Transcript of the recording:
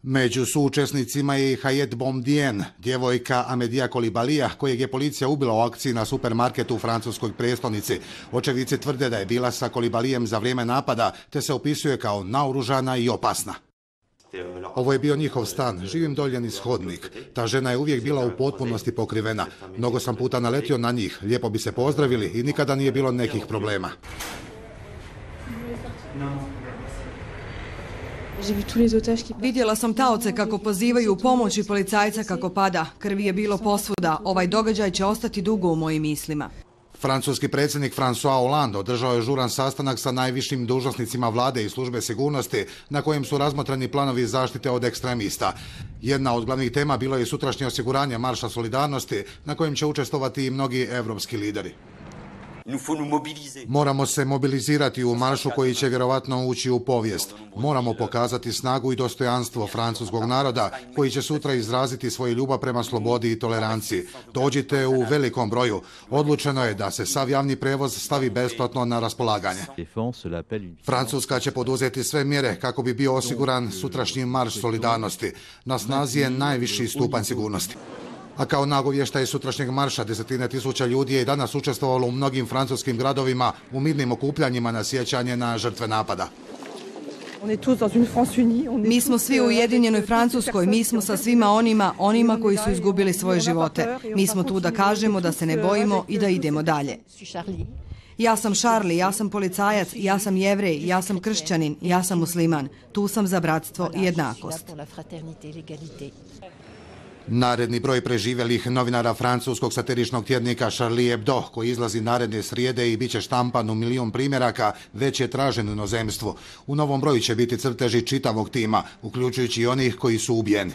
Među suučesnicima je i Hayet Boumediene, djevojka Amedija Kolibalija, kojeg je policija ubila u akciji na supermarketu u francuskoj prijestolnici. Očevici tvrde da je bila sa Kolibalijem za vrijeme napada, te se opisuje kao naoružana i opasna. Ovo je bio njihov stan, živim dolje niz hodnik. Ta žena je uvijek bila u potpunosti pokrivena. Mnogo sam puta naletio na njih, lijepo bi se pozdravili i nikada nije bilo nekih problema. Vidjela sam taoce kako pozivaju u pomoć i policajca kako pada. Krvi je bilo posvuda. Ovaj događaj će ostati dugo u mojim mislima. Francuski predsjednik François Hollande održao je žuran sastanak sa najvišim dužnosnicima vlade i službe sigurnosti na kojem su razmotreni planovi zaštite od ekstremista. Jedna od glavnih tema bilo je sutrašnje osiguranje Marša solidarnosti na kojem će učestvovati i mnogi evropski lideri. Moramo se mobilizirati u maršu koji će vjerovatno ući u povijest. Moramo pokazati snagu i dostojanstvo francuskog naroda koji će sutra izraziti svoju ljubav prema slobodi i toleranciji. Dođite u velikom broju. Odlučeno je da se sav javni prevoz stavi besplatno na raspolaganje. Francuska će poduzeti sve mjere kako bi bio osiguran sutrašnji marš solidarnosti. Na snazi je najviši stupanj sigurnosti. A kao nagovještaj sutrašnjeg marša desetine tisuća ljudi je i danas učestvovalo u mnogim francuskim gradovima u mirnim okupljanjima na sjećanje na žrtve napada. Mi smo svi u Ujedinjenoj Francuskoj, mi smo sa svima onima koji su izgubili svoje živote. Mi smo tu da kažemo da se ne bojimo i da idemo dalje. Ja sam Charlie, ja sam policajac, ja sam Jevrej, ja sam kršćanin, ja sam musliman. Tu sam za bratstvo i jednakost. Naredni broj preživjelih novinara francuskog satiričnog tjednika Charlie Hebdo, koji izlazi naredne srijede i bit će štampan u 1 milijun primjeraka, već je tražen u inozemstvu. U novom broju će biti crteži čitavog tima, uključujući i onih koji su ubijeni.